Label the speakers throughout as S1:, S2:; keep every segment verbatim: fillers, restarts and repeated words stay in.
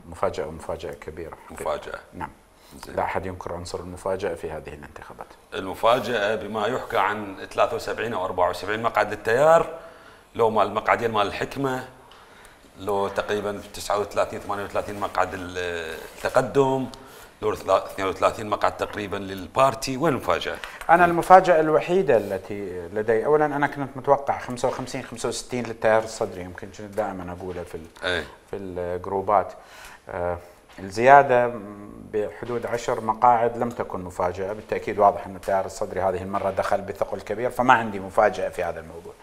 S1: مفاجأة ومفاجأة كبيرة.
S2: مفاجأة.
S1: نعم. لا أحد ينكر عنصر المفاجأة في هذه الانتخابات.
S2: المفاجأة بما يحكى عن ثلاثة وسبعين أو أربعة وسبعين مقعد للتيار، لو مال المقعدين مال الحكمة، لو تقريبا تسعة وثلاثين ثمانية وثلاثين مقعد التقدم، لو اثنين وثلاثين مقعد تقريبا للبارتي. وين المفاجأة؟
S1: أنا المفاجأة الوحيدة التي لدي، أولا أنا كنت متوقع خمسة وخمسين خمسة وستين للتيار الصدري، يمكن كنت دائما أقولها في
S2: أي.
S1: في الجروبات. آه الزيادة بحدود عشر مقاعد لم تكن مفاجأة، بالتأكيد واضح أن التيار الصدري هذه المرة دخل بثقل كبير، فما عندي مفاجأة في هذا الموضوع.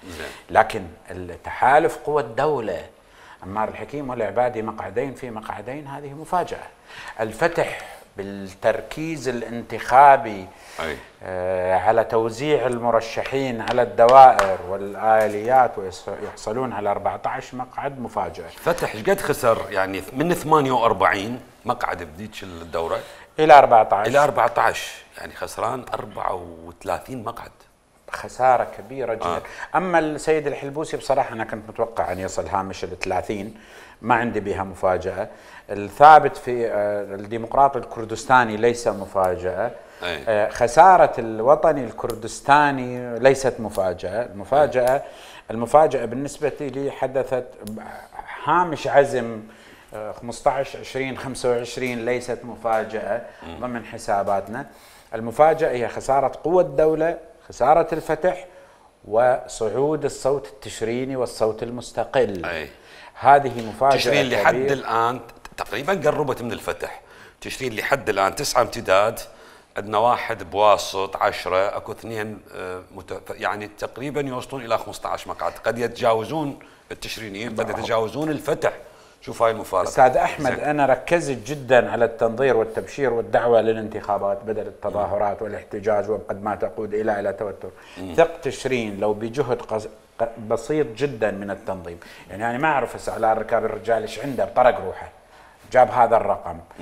S1: لكن التحالف قوى الدولة عمار الحكيم والعبادي مقعدين في مقعدين، هذه مفاجأة. الفتح بالتركيز الانتخابي
S2: أي.
S1: آه على توزيع المرشحين على الدوائر والآليات ويحصلون على أربعة عشر مقعد، مفاجأة.
S2: فتح ايش قد خسر يعني من ثمانية وأربعين مقعد بديك الدورة
S1: إلى أربعة عشر
S2: إلى أربعة عشر، يعني خسران أربعة وثلاثين مقعد،
S1: خسارة كبيرة جدا.
S2: آه.
S1: أما السيد الحلبوسي بصراحة أنا كنت متوقع أن يصل هامش الثلاثين، ما عندي بها مفاجأة. الثابت في الديمقراطي الكردستاني ليس مفاجأة.
S2: أي.
S1: خسارة الوطني الكردستاني ليست مفاجأة. المفاجأة المفاجأة بالنسبة لي حدثت هامش عزم خمسة عشر عشرين خمسة وعشرين، ليست مفاجأة ضمن حساباتنا. المفاجأة هي خسارة قوة الدولة، خسارة الفتح، وصعود الصوت التشريني والصوت المستقل.
S2: أي.
S1: هذه مفاجأة.
S2: تشرين لحد الآن تقريبا قربت من الفتح. تشرين لحد الآن تسعة امتداد، عندنا واحد بواسط عشرة، اكو اثنين مت... يعني تقريبا يوصلون الى خمسة عشر مقعد، قد يتجاوزون التشرينيين، قد يتجاوزون الفتح. شوف هاي المفارقه.
S1: استاذ احمد، انا ركزت جدا على التنظير والتبشير والدعوه للانتخابات بدل التظاهرات والاحتجاج وقد ما تقود الى الى توتر. ثق تشرين لو بجهد قص... بسيط جدا من التنظيم، يعني انا ما اعرف هسه على ركاب الرجال ايش عنده بطرق روحه جاب هذا الرقم.